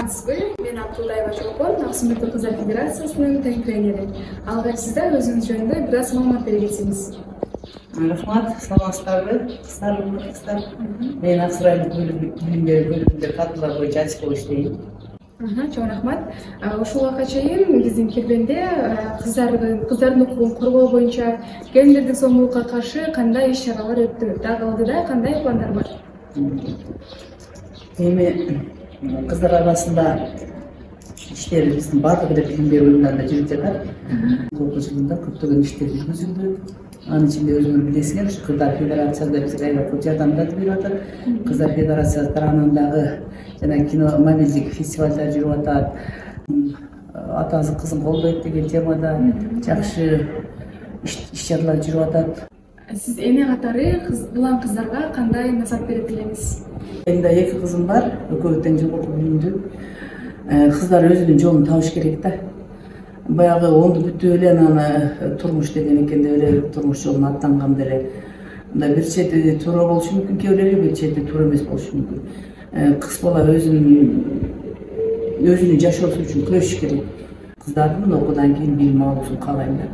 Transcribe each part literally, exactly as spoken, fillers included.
саламатсызбы? Мен Абдулдаева Чолпон, Ак Сүмбүлдү кыздар федерациясынын тең тренери. Ал эми сиздер өзүңүз жөнүндө бир аз маалымат бере кетсеңиз. Рахмат, саламатсыздарбы? Кыздар, кыздар. Мен Ак Суу райондук билим берүү бөлүмүндө кадрлар боюнча адис болуп иштейм. Чоң рахмат. Ушул убакка чейин биздин Кербенде кыздардын кыздардын укугун коргоо боюнча келиндердин зомбулукка каршы кандай иш чаралар өттү? Дагы алдыда кандай пландар бар? Эми кыздар арасында иштер биздин баардык эле билим берүү уюмдарында жүрүп жатат. Колку жылында көптөгөн иштер жүргүзүлдү. Анын ичинде өзүңөр билесиңер, ушу Кыздар федерациясы да бизге аябай жардамдарды берип атат. Кыздар федерациясы тарабынан дагы жана кино мобилдик фестивалдар жүрүп атат. Атасы кызын колдойт деген темада жакшы иш чаралар жүрүп атат. Сиз эне катары улан кыздарга кандай насаат бере элеңиз? Менде эки кызым бар, экөө тең жогорку билимдүү. Кыздар өзүнүн жолун табыш керек да. Баягы онду бүтүп эле анан турмуш деген экен деп эле турмуш жолуна аттанганда эле мындай бир чети туура болушу мүмкүн, кээ бирлери бир чети туура эмес болушу мүмкүн. Кыз бала өзүнүн өзүнүн жашоосу үчүн күрөшүш керек. Кыздардын мына окуудан кийин билим алуусун каалайм да.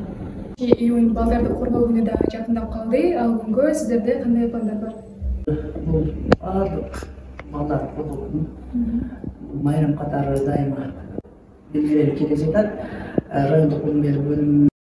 Июнь балдарды коргоо күнү да жакындап калды. Ал күнгө сиздерде кандай пландар бар? Бул баардык балдарды коргоо күнү майрам катары дайыма белгиленип келе жатат. Райондук билим берүү бөлүмү